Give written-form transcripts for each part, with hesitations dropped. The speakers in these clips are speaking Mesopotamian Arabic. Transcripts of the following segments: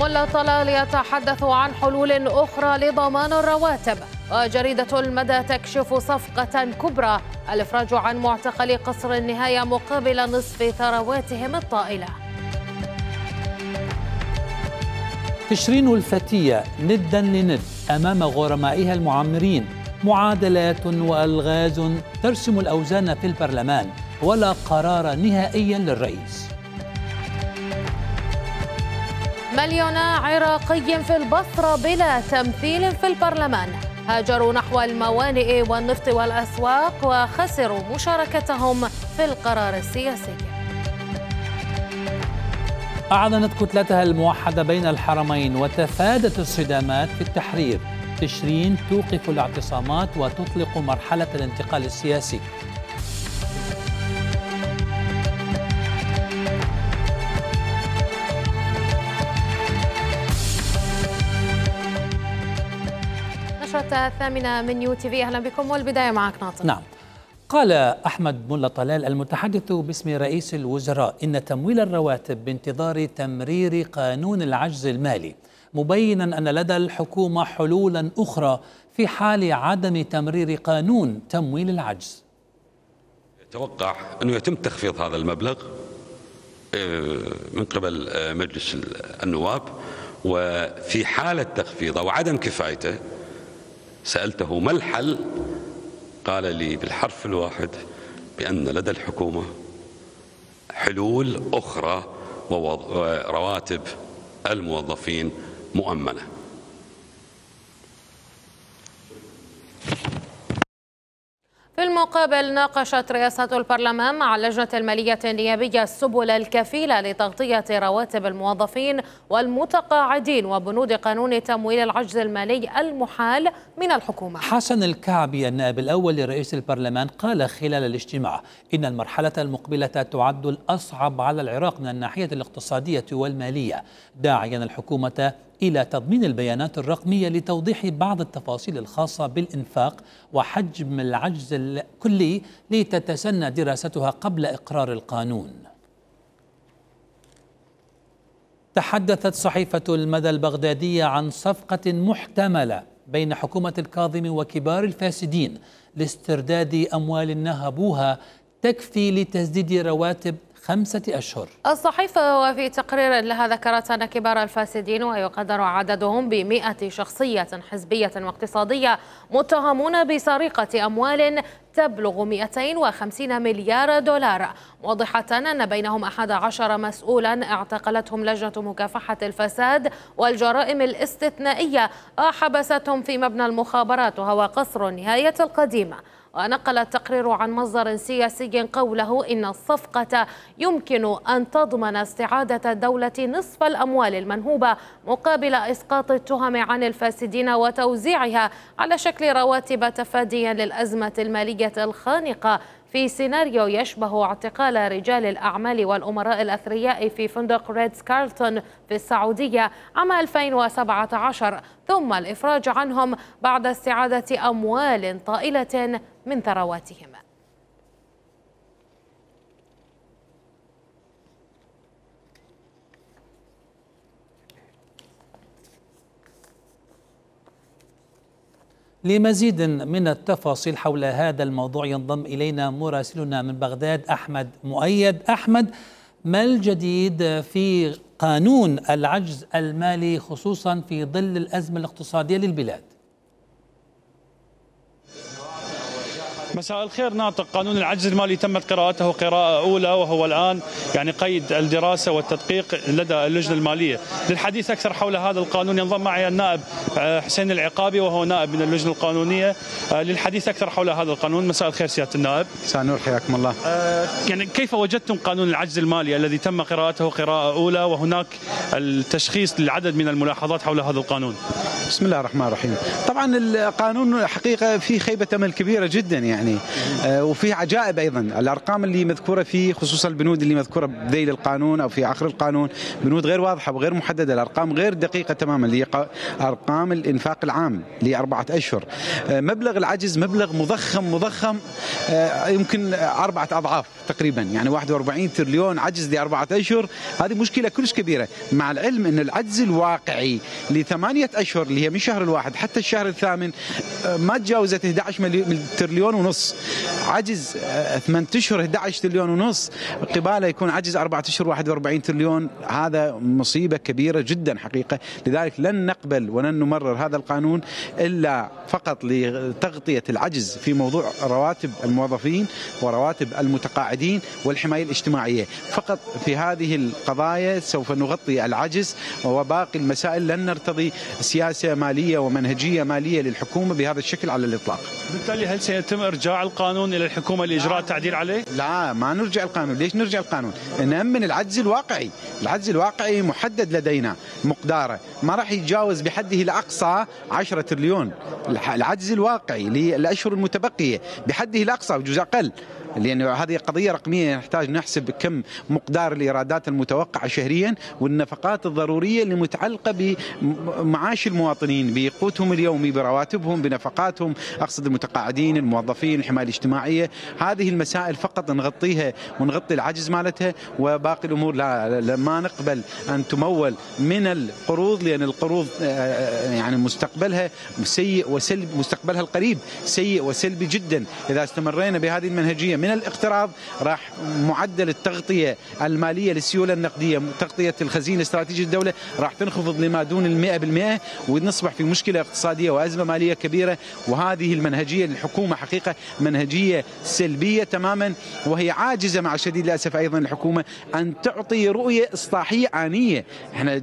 ملا طلال يتحدث عن حلول أخرى لضمان الرواتب. وجريدة المدى تكشف صفقة كبرى: الإفراج عن معتقلي قصر النهاية مقابل نصف ثرواتهم الطائلة. تشرين الفتية ندا لند أمام غرمائها المعمرين. معادلات وألغاز ترسم الأوزان في البرلمان، ولا قرار نهائيا للرئيس. مليون عراقي في البصرة بلا تمثيل في البرلمان، هاجروا نحو الموانئ والنفط والأسواق وخسروا مشاركتهم في القرار السياسي. أعلنت كتلتها الموحدة بين الحرمين وتفادت الصدامات في التحرير. تشرين توقف الاعتصامات وتطلق مرحلة الانتقال السياسي. نشرة الثامنة من يو تي في، أهلا بكم والبداية معك ناطق. نعم. قال أحمد ملا طلال المتحدث باسم رئيس الوزراء إن تمويل الرواتب بانتظار تمرير قانون العجز المالي، مبينا أن لدى الحكومة حلولا أخرى في حال عدم تمرير قانون تمويل العجز. يتوقع أنه يتم تخفيض هذا المبلغ من قبل مجلس النواب، وفي حالة تخفيضه وعدم كفايته سألته ما الحل، قال لي بالحرف الواحد بأن لدى الحكومة حلول أخرى ورواتب الموظفين مؤمنة. في المقابل، ناقشت رئاسة البرلمان مع اللجنة المالية النيابية السبل الكفيلة لتغطية رواتب الموظفين والمتقاعدين وبنود قانون تمويل العجز المالي المحال من الحكومة. حسن الكعبي النائب الأول لرئيس البرلمان قال خلال الاجتماع إن المرحلة المقبلة تعد الأصعب على العراق من الناحية الاقتصادية والمالية، داعيا الحكومة إلى تضمين البيانات الرقمية لتوضيح بعض التفاصيل الخاصة بالإنفاق وحجم العجز الكلي لتتسنى دراستها قبل إقرار القانون. تحدثت صحيفة المدى البغدادية عن صفقة محتملة بين حكومة الكاظمي وكبار الفاسدين لاسترداد أموال نهبوها تكفي لتسديد رواتب 5 أشهر. الصحيفة وفي تقرير لها ذكرت أن كبار الفاسدين، ويقدر عددهم ب100 شخصية حزبية واقتصادية، متهمون بسرقة أموال تبلغ 250 مليار دولار، موضحة أن بينهم 11 مسؤولا اعتقلتهم لجنة مكافحة الفساد والجرائم الاستثنائية وحبستهم في مبنى المخابرات وهو قصر النهاية القديمة. ونقل التقرير عن مصدر سياسي قوله إن الصفقة يمكن أن تضمن استعادة الدولة نصف الأموال المنهوبة مقابل إسقاط التهم عن الفاسدين وتوزيعها على شكل رواتب تفاديا للأزمة المالية الخانقة في سيناريو يشبه اعتقال رجال الأعمال والأمراء الأثرياء في فندق ريدز كارلتون في السعودية عام 2017، ثم الإفراج عنهم بعد استعادة أموال طائلة من ثرواتهم. لمزيد من التفاصيل حول هذا الموضوع ينضم إلينا مراسلنا من بغداد أحمد مؤيد. أحمد، ما الجديد في قانون العجز المالي خصوصا في ظل الأزمة الاقتصادية للبلاد؟ مساء الخير ناطق. قانون العجز المالي تمت قراءته قراءة أولى، وهو الآن قيد الدراسة والتدقيق لدى اللجنة المالية. للحديث أكثر حول هذا القانون ينضم معي النائب حسين العقابي وهو نائب من اللجنة القانونية للحديث أكثر حول هذا القانون. مساء الخير سيادة النائب. مساء النور، حياكم الله. كيف وجدتم قانون العجز المالي الذي تم قراءته قراءة أولى وهناك التشخيص للعدد من الملاحظات حول هذا القانون؟ بسم الله الرحمن الرحيم. طبعا القانون حقيقة فيه خيبة أمل كبيرة جدا، يعني. وفي عجائب أيضا، الأرقام اللي مذكورة فيه خصوصا البنود اللي مذكورة بذيل القانون أو في آخر القانون بنود غير واضحة وغير محددة، الأرقام غير دقيقة تماما، اللي أرقام الإنفاق العام ل4 أشهر. مبلغ العجز مبلغ مضخم يمكن 4 أضعاف تقريبا، يعني 41 تريليون عجز ل4 أشهر. هذه مشكلة كلش كبيرة، مع العلم أن العجز الواقعي ل8 أشهر اللي هي من شهر الواحد حتى الشهر الثامن ما تجاوزت 11 تريليون ونص. عجز 8 أشهر 11 تريليون ونص، قباله يكون عجز 4 أشهر 41 تريليون. هذا مصيبة كبيرة جدا حقيقة. لذلك لن نقبل ولن نمرر هذا القانون إلا فقط لتغطية العجز في موضوع رواتب الموظفين ورواتب المتقاعدين والحماية الاجتماعية. فقط في هذه القضايا سوف نغطي العجز، وباقي المسائل لن نرتضي سياسة مالية ومنهجية مالية للحكومة بهذا الشكل على الإطلاق. بالتالي هل سيتم إرجاع القانون إلى الحكومة لإجراء تعديل عليه؟ لا، ما نرجع القانون. ليش نرجع القانون؟ نأمن العجز الواقعي. العجز الواقعي محدد لدينا مقداره، ما راح يتجاوز بحده الأقصى 10 تريليون. العجز الواقعي للأشهر المتبقية بحده الأقصى وجزء أقل، لأن هذه قضية رقمية نحتاج نحسب كم مقدار الإيرادات المتوقعة شهريا والنفقات الضرورية اللي متعلقة بمعاش المواطنين، بقوتهم اليومي، برواتبهم، بنفقاتهم، أقصد المتقاعدين، الموظفين، الحماية الاجتماعية. هذه المسائل فقط نغطيها ونغطي العجز مالتها، وباقي الأمور لا ما نقبل أن تمول من القروض، لأن القروض يعني مستقبلها سيء وسلبي، مستقبلها القريب سيء وسلبي جدا. إذا استمرينا بهذه المنهجية من الاقتراض راح معدل التغطية المالية للسيولة النقدية، تغطية الخزينة الاستراتيجية للدولة راح تنخفض لما دون 100%، ونصبح في مشكلة اقتصادية وأزمة مالية كبيرة. وهذه المنهجية للحكومة حقيقة منهجية سلبية تماما، وهي عاجزة مع شديد الأسف أيضا الحكومة أن تعطي رؤية إصلاحية آنية. احنا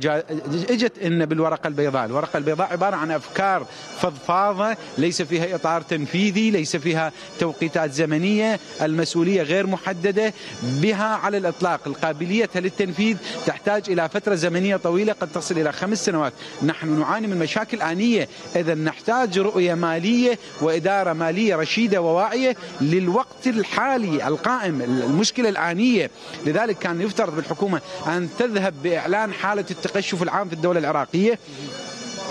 اجت إن بالورقة البيضاء، الورقة البيضاء عبارة عن أفكار فضفاضة ليس فيها إطار تنفيذي، ليس فيها توقيتات زمنية، المسؤولية غير محددة بها على الإطلاق. القابلية للتنفيذ تحتاج إلى فترة زمنية طويلة قد تصل إلى 5 سنوات. نحن نعاني من مشاكل آنية، إذا نحتاج رؤية مالية وإدارة مالية رشيدة وواعية للوقت الحالي القائم، المشكلة الآنية. لذلك كان يفترض بالحكومة أن تذهب بإعلان حالة التقشف العام في الدولة العراقية،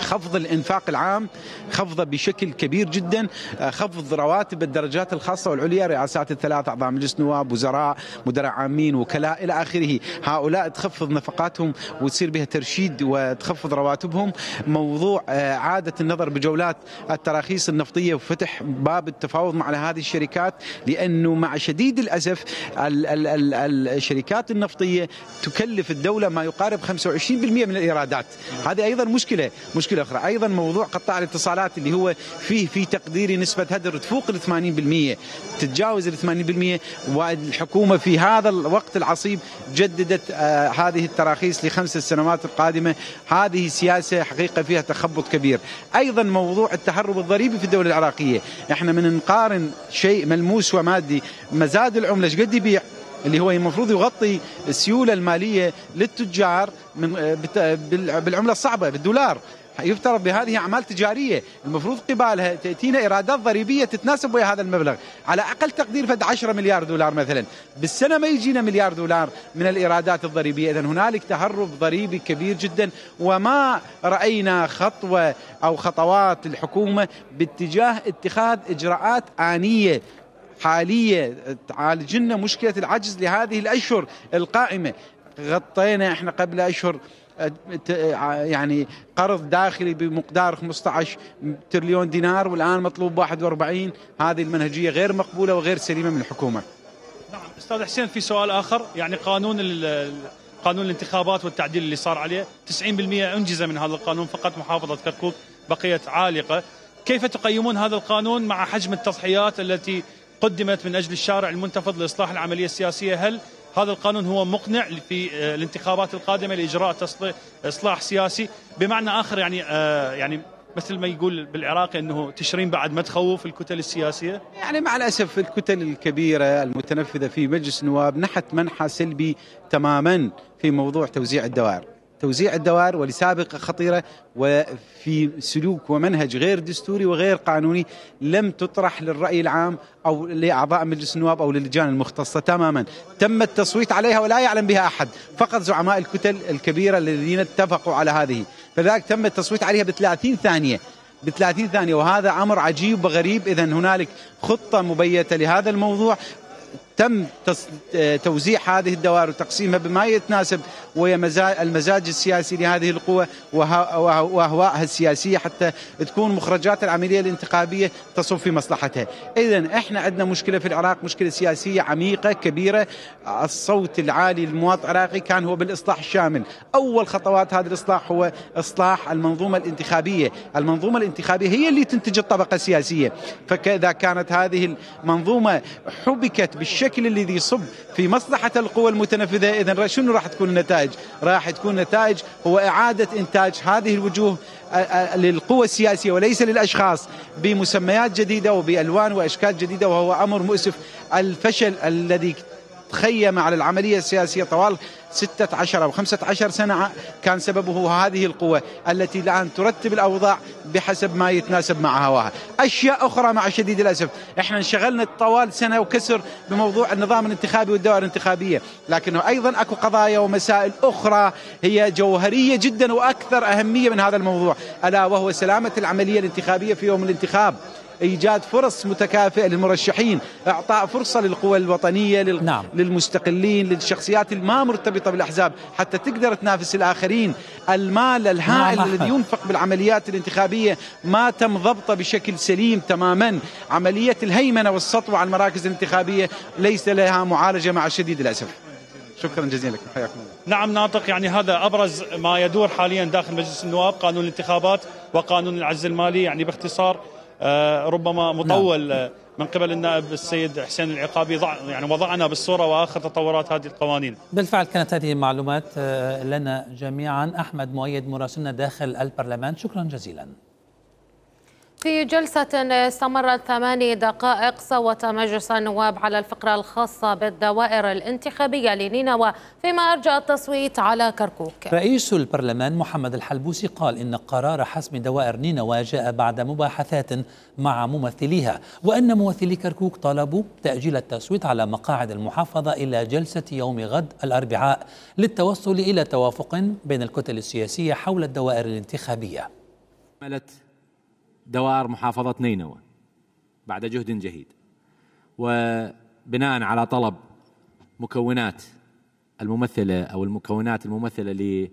خفض الإنفاق العام، خفضه بشكل كبير جدا، خفض رواتب الدرجات الخاصة والعليا، رئاسات الثلاث أعضاء مجلس نواب، وزراء، مدراء عامين، وكلاء إلى آخره. هؤلاء تخفض نفقاتهم وتصير بها ترشيد وتخفض رواتبهم. موضوع عادة النظر بجولات التراخيص النفطية وفتح باب التفاوض مع هذه الشركات، لأنه مع شديد الأسف الشركات النفطية تكلف الدولة ما يقارب 25% من الإيرادات. هذه أيضا مشكلة أخرى. أيضا موضوع قطاع الاتصالات اللي هو فيه في تقديري نسبة هدر تفوق 80%، تتجاوز 80%، والحكومة في هذا الوقت العصيب جددت هذه التراخيص ل5 سنوات القادمة. هذه سياسة حقيقة فيها تخبط كبير. أيضا موضوع التهرب الضريبي في الدولة العراقية، احنا من نقارن شيء ملموس ومادي، مزاد العملة قد يبيع اللي هو المفروض يغطي السيولة المالية للتجار بالعملة الصعبة بالدولار، يفترض بهذه أعمال تجارية المفروض قبالها تأتينا إيرادات ضريبية تتناسب ويا هذا المبلغ، على أقل تقدير فد 10 مليار دولار مثلا بالسنة، ما يجينا مليار دولار من الإيرادات الضريبية. إذن هنالك تهرب ضريبي كبير جدا، وما رأينا خطوة أو خطوات الحكومة باتجاه اتخاذ إجراءات آنية حالية تعالج لنا مشكلة العجز لهذه الأشهر القائمة. غطينا احنا قبل أشهر يعني قرض داخلي بمقدار 15 تريليون دينار، والآن مطلوب 41. هذه المنهجية غير مقبولة وغير سليمة من الحكومة. نعم أستاذ حسين، في سؤال آخر، يعني قانون الانتخابات والتعديل اللي صار عليه 90% أنجز من هذا القانون، فقط محافظة كركوك بقيت عالقة. كيف تقيمون هذا القانون مع حجم التضحيات التي قدمت من أجل الشارع المنتفض لإصلاح العملية السياسية؟ هل هذا القانون هو مقنع في الانتخابات القادمة لإجراء إصلاح سياسي؟ بمعنى آخر يعني مثل ما يقول بالعراق أنه تشرين بعد ما تخوف الكتل السياسية. يعني مع الأسف الكتل الكبيرة المتنفذة في مجلس النواب نحت منحى سلبي تماما في موضوع توزيع الدوائر. توزيع الدوائر ولسابقة خطيرة وفي سلوك ومنهج غير دستوري وغير قانوني لم تطرح للرأي العام أو لأعضاء مجلس النواب أو للجان المختصة تماما. تم التصويت عليها ولا يعلم بها أحد، فقط زعماء الكتل الكبيرة الذين اتفقوا على هذه، فذلك تم التصويت عليها ب30 ثانية، ب30 ثانية، وهذا أمر عجيب وغريب. إذن هنالك خطة مبيتة لهذا الموضوع، تم توزيع هذه الدوائر وتقسيمها بما يتناسب المزاج السياسي لهذه القوى وأهوائها السياسية حتى تكون مخرجات العملية الانتخابية تصب في مصلحتها. إذن إحنا عندنا مشكلة في العراق، مشكلة سياسية عميقة كبيرة. الصوت العالي للمواطن العراقي كان هو بالإصلاح الشامل. أول خطوات هذا الإصلاح هو إصلاح المنظومة الانتخابية. المنظومة الانتخابية هي اللي تنتج الطبقة السياسية، فإذا كانت هذه المنظومة حبكت بالشكل الذي يصب في مصلحة القوى المتنفذة، إذن شنو راح تكون النتائج؟ راح تكون نتائج هو إعادة إنتاج هذه الوجوه للقوى السياسية وليس للأشخاص بمسميات جديدة وبألوان وأشكال جديدة، وهو أمر مؤسف. الفشل الذي تخيم على العملية السياسية طوال 16 أو 15 سنة كان سببه هذه القوة التي الآن ترتب الأوضاع بحسب ما يتناسب مع هواها. أشياء أخرى مع شديد الأسف احنا انشغلنا طوال سنة وكسر بموضوع النظام الانتخابي والدوائر الانتخابية، لكنه أيضا أكو قضايا ومسائل أخرى هي جوهرية جدا وأكثر أهمية من هذا الموضوع، ألا وهو سلامة العملية الانتخابية في يوم الانتخاب، إيجاد فرص متكافئة للمرشحين، إعطاء فرصة للقوى الوطنية للمستقلين، للشخصيات الما مرتبطة بالأحزاب حتى تقدر تنافس الآخرين. المال الهائل الذي ينفق بالعمليات الانتخابية ما تم ضبطه بشكل سليم تماما. عملية الهيمنة والسطوة على المراكز الانتخابية ليس لها معالجة مع شديد الأسف. شكرا جزيلا لكم، حياكم الله. نعم ناطق، يعني هذا أبرز ما يدور حاليا داخل مجلس النواب، قانون الانتخابات وقانون العجز المالي، يعني باختصار ربما مطول من قبل النائب السيد حسين العقابي يعني وضعنا بالصورة وآخر تطورات هذه القوانين. بالفعل كانت هذه المعلومات لنا جميعا. أحمد مؤيد مراسلنا داخل البرلمان، شكرا جزيلا. في جلسة استمرت 8 دقائق صوت مجلس النواب على الفقرة الخاصة بالدوائر الانتخابية لنينوى، فيما أرجى التصويت على كركوك. رئيس البرلمان محمد الحلبوسي قال إن قرار حسم دوائر نينوى جاء بعد مباحثات مع ممثليها، وأن ممثلي كركوك طلبوا تأجيل التصويت على مقاعد المحافظة إلى جلسة يوم غد الأربعاء للتوصل إلى توافق بين الكتل السياسية حول الدوائر الانتخابية. دوائر محافظة نينوى بعد جهد جهيد وبناء على طلب مكونات الممثلة أو المكونات الممثلة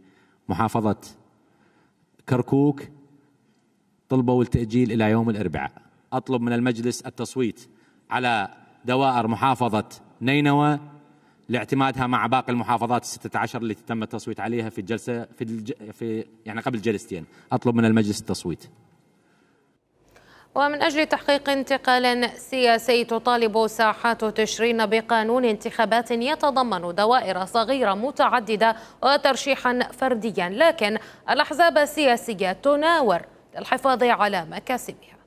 لمحافظة كركوك، طلبوا التأجيل إلى يوم الأربعاء. أطلب من المجلس التصويت على دوائر محافظة نينوى لاعتمادها مع باقي المحافظات 16 التي تم التصويت عليها في الجلسة يعني قبل جلستين. أطلب من المجلس التصويت. ومن أجل تحقيق انتقال سياسي تطالب ساحات تشرين بقانون انتخابات يتضمن دوائر صغيرة متعددة وترشيحا فرديا، لكن الأحزاب السياسية تناور للحفاظ على مكاسبها.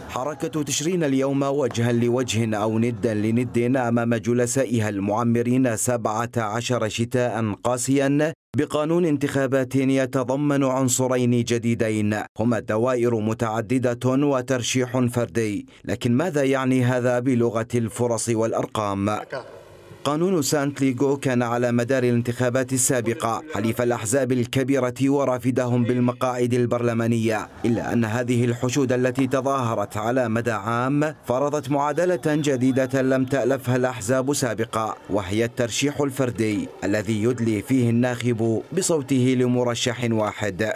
حركة تشرين اليوم وجها لوجه أو ندا لند أمام جلسائها المعمرين 17 شتاء قاسيا بقانون انتخابات يتضمن عنصرين جديدين هما دوائر متعددة وترشيح فردي. لكن ماذا يعني هذا بلغة الفرص والأرقام؟ قانون سانت ليغو كان على مدار الانتخابات السابقة حليف الأحزاب الكبيرة ورافدهم بالمقاعد البرلمانية، إلا أن هذه الحشود التي تظاهرت على مدى عام فرضت معادلة جديدة لم تألفها الأحزاب سابقا، وهي الترشيح الفردي الذي يدلي فيه الناخب بصوته لمرشح واحد.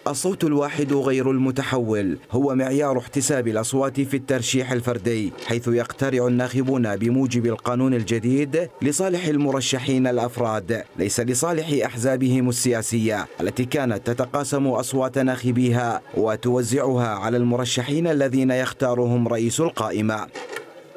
الصوت الواحد غير المتحول هو معيار احتساب الأصوات في الترشيح الفردي، حيث يقترع الناخبون بموجب القانون الجديد لصالح المرشحين الأفراد، ليس لصالح أحزابهم السياسية التي كانت تتقاسم أصوات ناخبيها وتوزعها على المرشحين الذين يختارهم رئيس القائمة.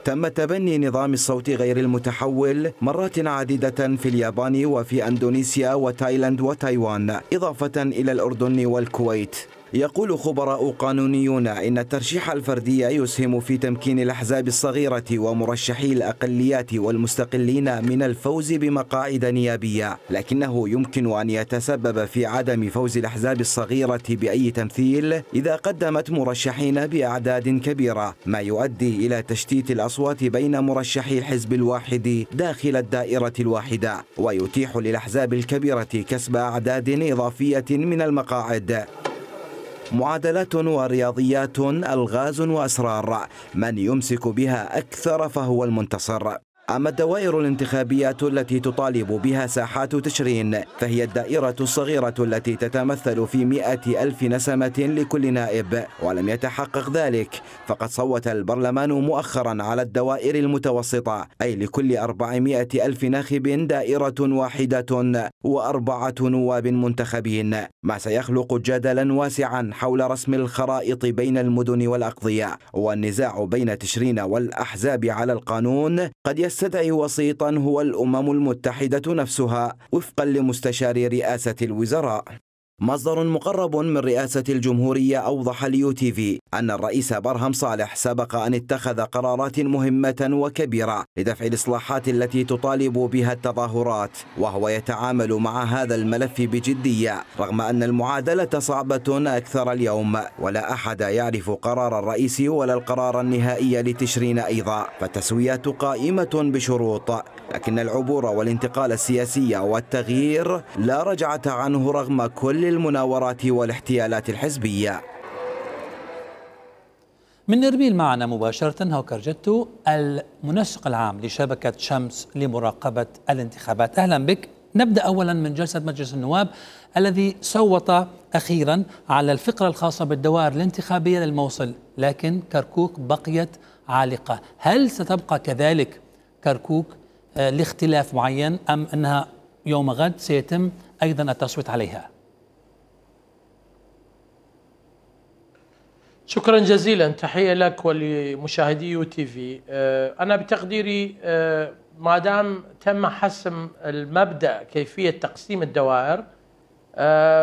تم تبني نظام الصوت غير المتحول مرات عديدة في اليابان وفي أندونيسيا وتايلاند وتايوان، إضافة إلى الأردن والكويت. يقول خبراء قانونيون إن الترشيح الفردي يسهم في تمكين الأحزاب الصغيرة ومرشحي الأقليات والمستقلين من الفوز بمقاعد نيابية، لكنه يمكن أن يتسبب في عدم فوز الأحزاب الصغيرة بأي تمثيل إذا قدمت مرشحين بأعداد كبيرة، ما يؤدي إلى تشتيت الأصوات بين مرشحي الحزب الواحد داخل الدائرة الواحدة، ويتيح للأحزاب الكبيرة كسب أعداد إضافية من المقاعد. معادلات ورياضيات، ألغاز وأسرار، من يمسك بها أكثر فهو المنتصر. أما الدوائر الانتخابية التي تطالب بها ساحات تشرين فهي الدائرة الصغيرة التي تتمثل في 100,000 نسمة لكل نائب، ولم يتحقق ذلك، فقد صوت البرلمان مؤخرا على الدوائر المتوسطة، أي لكل 400,000 ناخب دائرة واحدة و4 نواب منتخبين، ما سيخلق جدلا واسعا حول رسم الخرائط بين المدن والأقضية. والنزاع بين تشرين والأحزاب على القانون قد يستدعي وسيطا هو الأمم المتحدة نفسها، وفقا لمستشار رئاسة الوزراء. مصدر مقرب من رئاسة الجمهورية أوضح لUTV أن الرئيس برهم صالح سبق أن اتخذ قرارات مهمة وكبيرة لدفع الإصلاحات التي تطالب بها التظاهرات، وهو يتعامل مع هذا الملف بجدية رغم أن المعادلة صعبة أكثر اليوم، ولا أحد يعرف قرار الرئيس ولا القرار النهائي لتشرين أيضا، فالتسويات قائمة بشروط، لكن العبور والانتقال السياسي والتغيير لا رجعة عنه رغم كل المناورات والاحتيالات الحزبية. من إربيل معنا مباشرة هوكر جتو، المنسق العام لشبكة شمس لمراقبة الانتخابات. أهلا بك. نبدأ أولا من جلسة مجلس النواب الذي صوت أخيرا على الفقرة الخاصة بالدوائر الانتخابية للموصل، لكن كركوك بقيت عالقة. هل ستبقى كذلك كركوك لاختلاف معين، أم أنها يوم غد سيتم أيضا التصويت عليها؟ شكرا جزيلا، تحية لك ولمشاهدي UTV. أنا بتقديري ما دام تم حسم المبدأ كيفية تقسيم الدوائر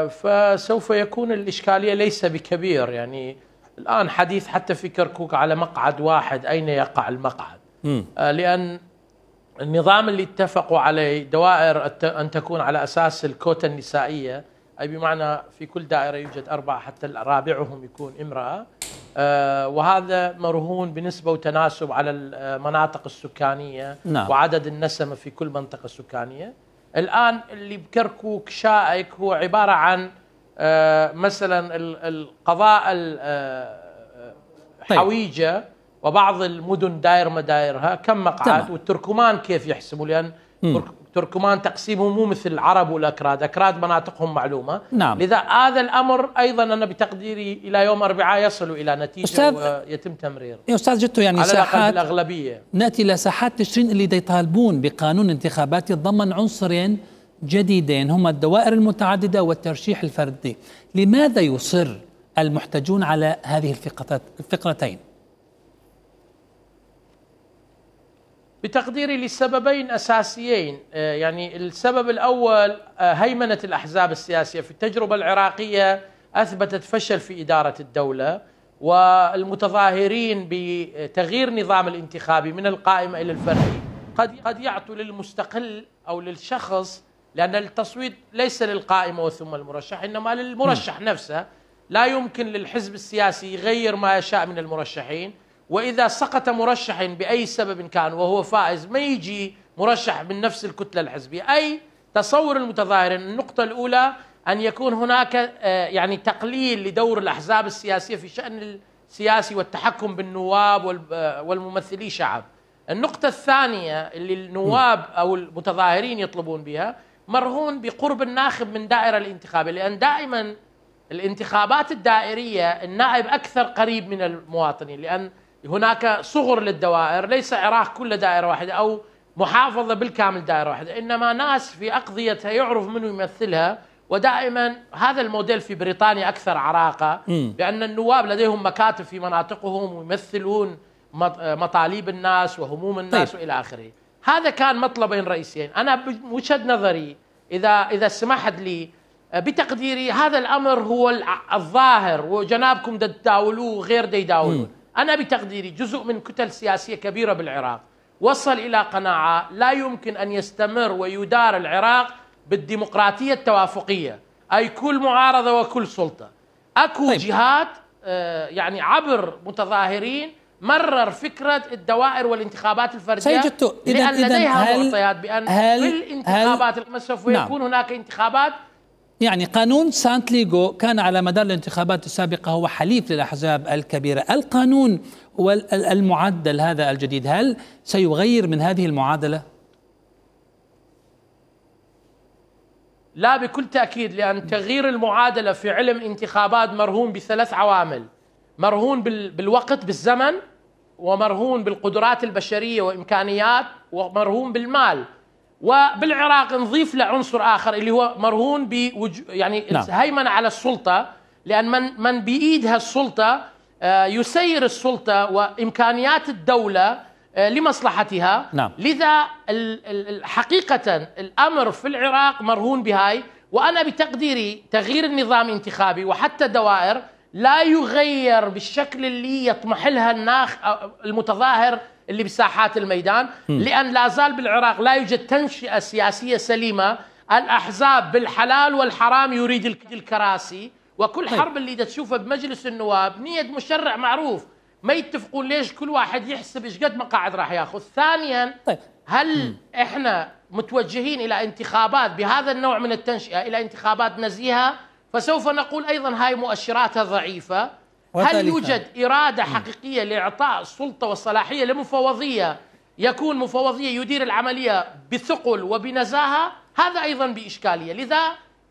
فسوف يكون الإشكالية ليس بكبير. يعني الآن حديث حتى في كركوك على مقعد واحد، أين يقع المقعد؟ لأن النظام اللي اتفقوا عليه دوائر أن تكون على أساس الكوتا النسائية، أي بمعنى في كل دائرة يوجد 4 حتى رابعهم يكون امرأة، وهذا مرهون بنسبة وتناسب على المناطق السكانية. نعم. وعدد النسمة في كل منطقة سكانية. الآن اللي بكركوك شائك هو عبارة عن مثلا القضاء الحويجة وبعض المدن داير مدايرها كم مقعد، والتركمان كيف يحسموا، لأن تركمان تقسيمهم مو مثل العرب والأكراد، أكراد مناطقهم معلومة. نعم. لذا هذا الأمر أيضا أنا بتقديري إلى يوم 4 يصل إلى نتيجة ويتم تمرير. أستاذ جتو، يعني على ساحات الأغلبية. نأتي إلى ساحات تشرين اللي يطالبون بقانون انتخابات يتضمن عنصرين جديدين هما الدوائر المتعددة والترشيح الفردي. لماذا يصر المحتجون على هذه الفقرتين؟ بتقديري لسببين أساسيين. يعني السبب الأول هيمنة الأحزاب السياسية. في التجربة العراقية أثبتت فشل في إدارة الدولة، والمتظاهرين بتغيير نظام الانتخابي من القائمة إلى الفردي قد يعطوا للمستقل أو للشخص، لأن التصويت ليس للقائمة وثم المرشح، إنما للمرشح نفسه. لا يمكن للحزب السياسي يغير ما يشاء من المرشحين، وإذا سقط مرشح بأي سبب كان وهو فائز ما يجي مرشح من نفس الكتلة الحزبية. أي تصور المتظاهرين النقطة الأولى أن يكون هناك يعني تقليل لدور الأحزاب السياسية في شأن السياسي والتحكم بالنواب والممثلي شعب. النقطة الثانية اللي النواب أو المتظاهرين يطلبون بها مرهون بقرب الناخب من دائرة الانتخابية، لأن دائما الانتخابات الدائرية النائب أكثر قريب من المواطنين، لأن هناك صغر للدوائر، ليس عراق كل دائرة واحدة أو محافظة بالكامل دائرة واحدة، إنما ناس في أقضيتها يعرف منه يمثلها. ودائما هذا الموديل في بريطانيا أكثر عراقة، لأن النواب لديهم مكاتب في مناطقهم ويمثلون مطالب الناس وهموم الناس وإلى آخره. هذا كان مطلبين رئيسيين. أنا بوجهة نظري إذا سمحت لي بتقديري هذا الأمر هو الظاهر، وجنابكم تداولوه وغير يداولون. أنا بتقديري جزء من كتل سياسية كبيرة بالعراق وصل إلى قناعة لا يمكن أن يستمر ويدار العراق بالديمقراطية التوافقية، أي كل معارضة وكل سلطة. أكو جهات يعني عبر متظاهرين مرر فكرة الدوائر والانتخابات الفردية، لأن لديها معطيات بأن في الانتخابات سوف يكون هناك انتخابات. يعني قانون سانتليغو كان على مدار الانتخابات السابقة هو حليف للأحزاب الكبيرة. القانون والمعدل هذا الجديد هل سيغير من هذه المعادلة؟ لا بكل تأكيد، لأن تغيير المعادلة في علم انتخابات مرهون ب3 عوامل: مرهون بالوقت بالزمن، ومرهون بالقدرات البشرية وإمكانيات، ومرهون بالمال. وبالعراق نضيف له عنصر آخر اللي هو مرهون يعني الهيمنة على السلطة، لأن من بإيدها السلطة يسير السلطة وإمكانيات الدولة لمصلحتها. لذا حقيقة الأمر في العراق مرهون بهاي. وأنا بتقديري تغيير النظام الانتخابي وحتى الدوائر لا يغير بالشكل اللي يطمح لها المتظاهر اللي بساحات الميدان، لأن لا زال بالعراق لا يوجد تنشئة سياسية سليمة. الأحزاب بالحلال والحرام يريد الكراسي، وكل حرب اللي تشوفها بمجلس النواب نية مشرع معروف، ما يتفقون ليش كل واحد يحسب ايش قد مقاعد راح ياخذ. ثانيا، هل احنا متوجهين الى انتخابات بهذا النوع من التنشئة، الى انتخابات نزيهة؟ فسوف نقول ايضا هاي مؤشراتها ضعيفة. هل يوجد إرادة حقيقية لإعطاء السلطة والصلاحية لمفوضية يكون مفوضية يدير العملية بثقل وبنزاهة؟ هذا أيضا بإشكالية. لذا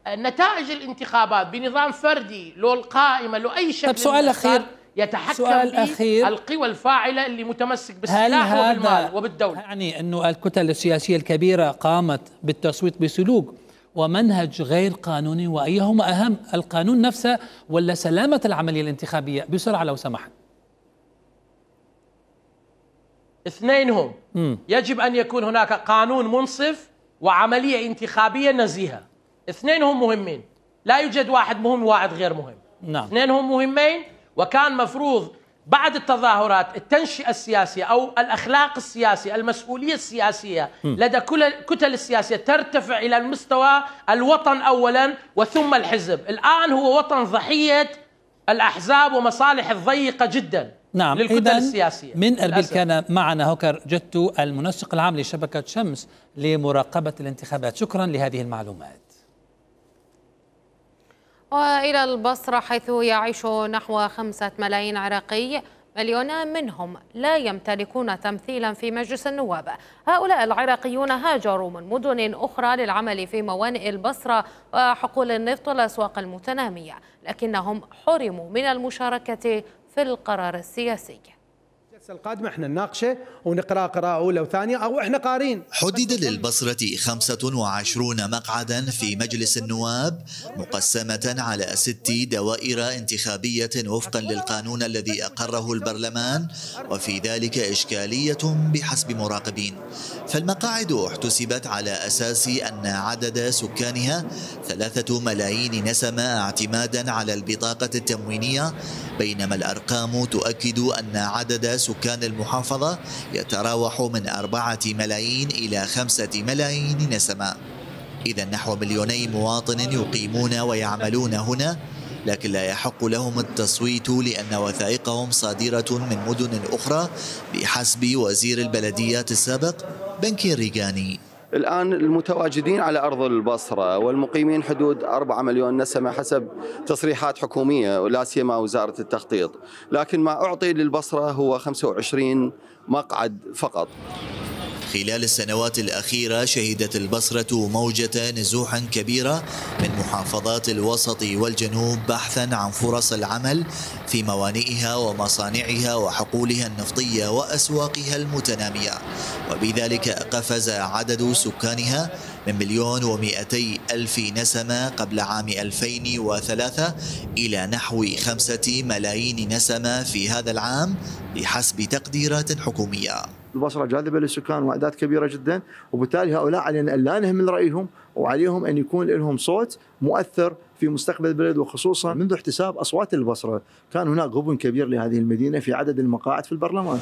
نتائج الانتخابات بنظام فردي لو القائمة لو أي شكل سؤال أخير يتحكم به القوى الفاعلة اللي متمسك بالسلاح وبالمال وبالدولة. يعني أنه الكتل السياسية الكبيرة قامت بالتصويت بسلوك ومنهج غير قانوني، وأيهما أهم، القانون نفسه ولا سلامة العملية الانتخابية؟ بسرعة لو سمحت. اثنينهم. يجب أن يكون هناك قانون منصف وعملية انتخابية نزيهة. اثنينهم مهمين، لا يوجد واحد مهم وواحد غير مهم. اثنينهم مهمين. وكان مفروض بعد التظاهرات التنشئة السياسية أو الأخلاق السياسية، المسؤولية السياسية لدى كل الكتل السياسية ترتفع إلى المستوى الوطن أولا وثم الحزب. الآن هو وطن ضحية الأحزاب ومصالح الضيقة جدا للكتل السياسية. من أربيل كان معنا هوكر جتو المنسق العام لشبكة شمس لمراقبة الانتخابات. شكرا لهذه المعلومات. وإلى البصرة، حيث يعيش نحو 5 ملايين عراقي، مليونان منهم لا يمتلكون تمثيلا في مجلس النواب. هؤلاء العراقيون هاجروا من مدن أخرى للعمل في موانئ البصرة وحقول النفط والأسواق المتنامية، لكنهم حرموا من المشاركة في القرار السياسي. الجلسة القادمة احنا نناقشه ونقرأ قراءة أولى وثانية أو احنا قارين. حدد للبصرة 25 مقعدا في مجلس النواب مقسمة على 6 دوائر انتخابية وفقا للقانون الذي أقره البرلمان، وفي ذلك إشكالية بحسب مراقبين. فالمقاعد احتسبت على أساس أن عدد سكانها 3 ملايين نسمة اعتمادا على البطاقة التموينية، بينما الأرقام تؤكد أن عدد سكان المحافظة يتراوح من 4 ملايين إلى 5 ملايين نسمة. إذا نحو 2 مواطن يقيمون ويعملون هنا، لكن لا يحق لهم التصويت لأن وثائقهم صادرة من مدن أخرى بحسب وزير البلديات السابق بنكي الريغاني. الآن المتواجدين على أرض البصرة والمقيمين حدود 4 مليون نسمة حسب تصريحات حكومية ولا سيما وزارة التخطيط، لكن ما أعطي للبصرة هو 25 مقعد فقط. خلال السنوات الأخيرة شهدت البصرة موجة نزوح كبيرة من محافظات الوسط والجنوب بحثا عن فرص العمل في موانئها ومصانعها وحقولها النفطية وأسواقها المتنامية، وبذلك قفز عدد سكانها من 1,200,000 نسمة قبل عام 2003 إلى نحو 5 ملايين نسمة في هذا العام بحسب تقديرات حكومية. البصرة جاذبة للسكان وأعداد كبيرة جدا، وبالتالي هؤلاء علينا أن لا نهمل رأيهم، وعليهم أن يكون لهم صوت مؤثر في مستقبل البلد. وخصوصا منذ احتساب أصوات البصرة كان هناك غبن كبير لهذه المدينة في عدد المقاعد في البرلمان.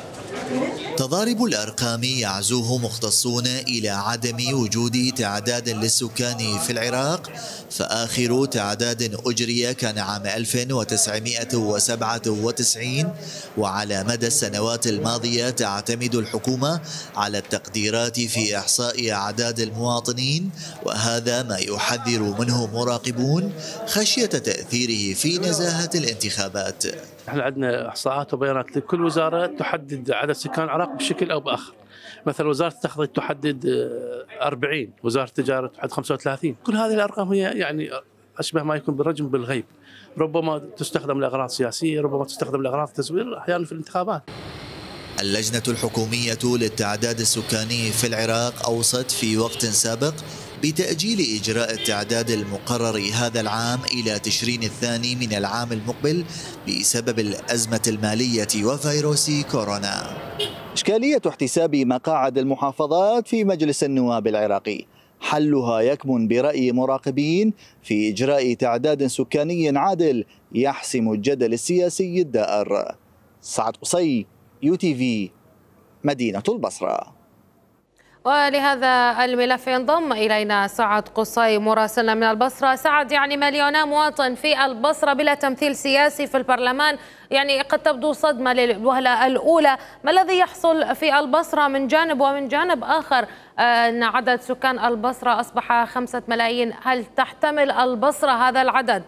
تضارب الأرقام يعزوه مختصون إلى عدم وجود تعداد للسكان في العراق، فآخر تعداد أجري كان عام 1997، وعلى مدى السنوات الماضية تعتمد الحكومة على التقديرات في إحصاء أعداد المواطنين، وهذا ما يحذر منه مراقبون خشية تأثيره في نزاهة الانتخابات. احنا عندنا احصاءات وبيانات لكل وزاره تحدد عدد سكان العراق بشكل او باخر. مثلا وزاره التخطيط تحدد 40، وزاره التجاره تحدد 35. كل هذه الارقام هي يعني اشبه ما يكون بالرجم بالغيب، ربما تستخدم لاغراض سياسيه، ربما تستخدم لاغراض تزوير احيانا في الانتخابات. اللجنة الحكومية للتعداد السكاني في العراق أوصت في وقت سابق بتأجيل إجراء التعداد المقرر هذا العام إلى تشرين الثاني من العام المقبل بسبب الأزمة المالية وفيروس كورونا. إشكالية احتساب مقاعد المحافظات في مجلس النواب العراقي حلها يكمن برأي مراقبين في إجراء تعداد سكاني عادل يحسم الجدل السياسي الدائر. سعد قصي، UTV، مدينة البصرة. ولهذا الملف ينضم إلينا سعد قصي مراسلنا من البصرة. سعد، يعني مليون مواطن في البصرة بلا تمثيل سياسي في البرلمان، يعني قد تبدو صدمة للوهلة الأولى. ما الذي يحصل في البصرة من جانب، ومن جانب آخر أن عدد سكان البصرة أصبح 5 ملايين؟ هل تحتمل البصرة هذا العدد؟